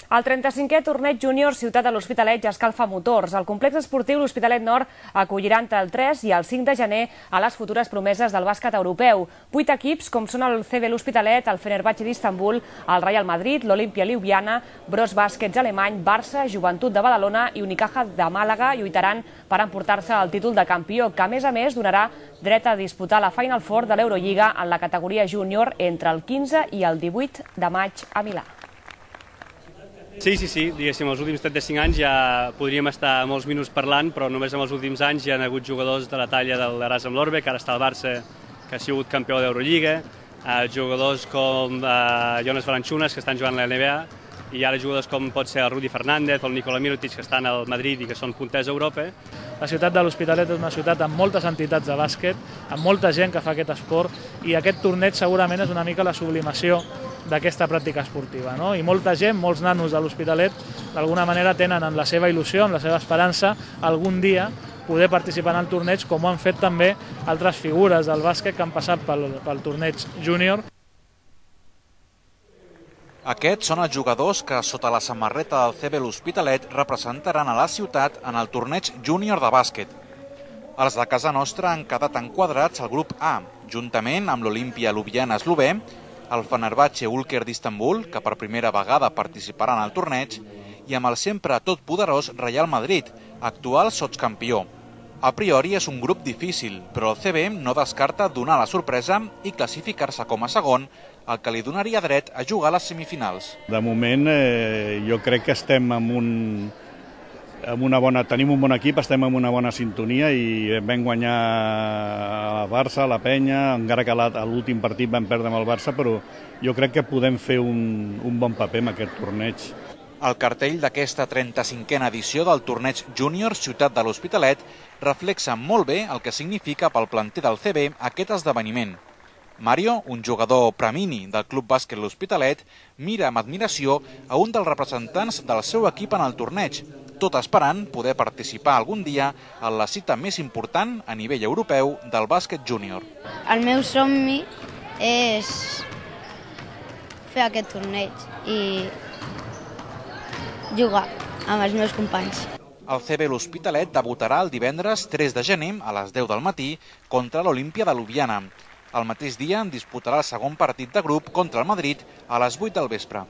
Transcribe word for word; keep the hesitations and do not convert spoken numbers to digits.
El trenta-cinquè torneig júnior Ciutat de l'Hospitalet ja escalfa motors. El complex esportiu L'Hospitalet Nord acollirà entre el tres i el cinc de gener a les futures promeses del bàsquet europeu. Vuit equips, com són el C B L'Hospitalet, el Fenerbahçe d'Istanbul, el Real Madrid, l'Olimpia Ljubljana, Bros Bàsquets alemany, Barça, Joventut de Badalona i Unicaja de Màlaga lluitaran per emportar-se el títol de campió, que a més a més donarà dret a disputar la Final Four de l'Eurolliga en la categoria júnior entre el quinze i el divuit de maig a Milà. Sí, sí, sí, diguéssim, els últims trenta-cinc anys ja podríem estar molts minuts parlant, però només en els últims anys hi ha hagut jugadors de la talla de l'Erasm Lorbe, que ara està al Barça, que ha sigut campió d'Eurolliga, eh, jugadors com eh, Jonas Valanciunas, que estan jugant a la N B A, i ara jugadors com pot ser el Rudy Fernández o el Nikola Mirotic, que estan al Madrid i que són punters a Europa. La ciutat de l'Hospitalet és una ciutat amb moltes entitats de bàsquet, amb molta gent que fa aquest esport, i aquest torneig segurament és una mica la sublimació d'aquesta pràctica esportiva, no? I molta gent, molts nanos de l'Hospitalet, d'alguna manera tenen en la seva il·lusió, en la seva esperança, algun dia poder participar en el torneig, com ho han fet també altres figures del bàsquet que han passat pel, pel torneig júnior. Aquests són els jugadors que, sota la samarreta del C B L'Hospitalet, representaran a la ciutat en el torneig júnior de bàsquet. Els de casa nostra han quedat enquadrats al grup A, juntament amb l'Olimpia Ljubljana eslovè, el Fenerbahçe Ulker d'Istanbul, que per primera vegada participarà en el torneig, i amb el sempre totpoderós Real Madrid, actual sotscampió. A priori és un grup difícil, però el C B no descarta donar la sorpresa i classificar-se com a segon, el que li donaria dret a jugar a les semifinals. De moment eh, jo crec que estem amb un, amb una bona, tenim un bon equip, estem amb una bona sintonia i vam guanyar a Barça, a la Penya, encara que a l'últim partit vam perdre amb el Barça, però jo crec que podem fer un, un bon paper en aquest torneig. El cartell d'aquesta trenta-cinquena edició del torneig júnior Ciutat de l'Hospitalet reflexa molt bé el que significa pel planter del C B aquest esdeveniment. Mario, un jugador premini del Club Bàsquet L'Hospitalet, mira amb admiració a un dels representants del seu equip en el torneig, tot esperant poder participar algun dia en la cita més important a nivell europeu del bàsquet júnior. El meu somni és fer aquest torneig i jugar amb els meus companys. El C B L'Hospitalet debutarà el divendres tres de gener a les deu del matí contra l'Olimpia de Ljubljana. El mateix dia en disputarà el segon partit de grup contra el Madrid a les vuit del vespre.